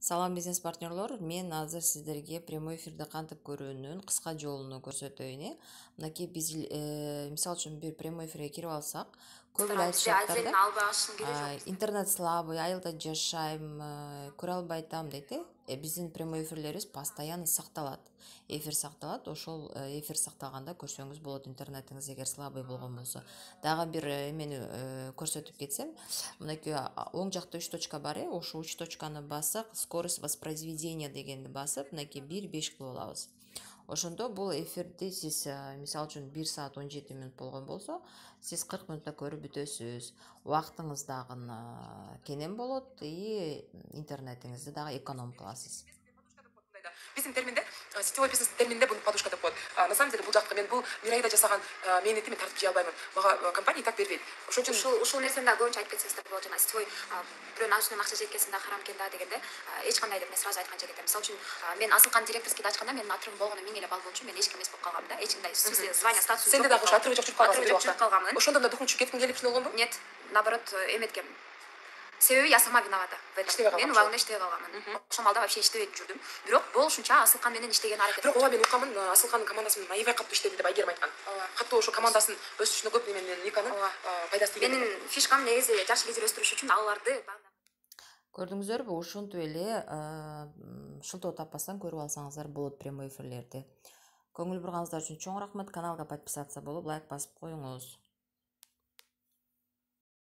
Салам бизнес партнерлор, мен азыр сиздерге прямой эфирде кантип көрүүнүн кыска жолун көрсөтөйүн. Мынакей биз мисалы үчүн бир прямой эфирге кирип алсак, көп эле айтышат да, интернет слабый, айылда жашайм, көрө албай атам дейт. Биздин прямой эфирлерибиз постоянно сакталат. Эфир сакталат, ошол эфир сакталганда көрсөңүз болот, интернетиңиз эгер слабый болгон болсо. Дагы бир эмени көрсөтүп кетсем, мынакей оң жакта 3 точка бар, ошол 3 точканы бассак, скорость воспроизведения дегенди басып, мынакей 1-5 кылып алабыз. Ошондо бул эфирди сиз мисалы үчүн 1 саат 17 мүнөт болгон болсо, сиз 40 мүнөттө көрүп бүтөсүз. Убактыңыз дагы кенен болот и интернетиңизди дагы эконом кыласыз. Биздин терминде, сетевой бизнес терминде буну подушка деп коет. На самом деле бул жакка мен бул Мирайда жасаган мээнетти мен тартып жей албаймын. Мага компания так бербейт. Ошол үчүн ушул нерсени да көбүнчө айтып кетсеңиздер болот. Жана сетевой бирөөнүн ажынан акча жеткенсин да харам экен да дегенде, эч кандай деп мен сразу айткан жок элем. Мисалы үчүн мен Асылкан директорскийди ачканда менин атырым болгону 1000 эле балл болчу, мен эч ким эмес болуп калгам да. Эч кандай смысле звание статусу жок. Сенде дагы ушу атырыбы жок жүрүп калгамын. Ошондо мына документ кеткиң келип болгонбу? Нет, наоборот, эметкем. Себеби я сама виновата в этом. Мен убагында иштебей калганмын. Ошол малда вообще иштебей жүрдүм. Бирок болушунча Асылкан менен иштеген аракет. Бирок ооба мен укканмын, Асылкандын командасы менен аябай катуу иштеди деп Айгерим айткан. Катуу ошо командасын өсүшүнө көп менен Никанын пайдасы тийген. Менин фишкам негизи жаш лидер өстүрүш үчүн аларды Көрдүңүздөрбү, ушинтип эле шылтоо таппастан көрүп алсаңыздар болот прямой эфирлерди. Көңүл бурганыңыздар үчүн чоң рахмат. Каналга подписаться болуп, лайк басып коюңуз.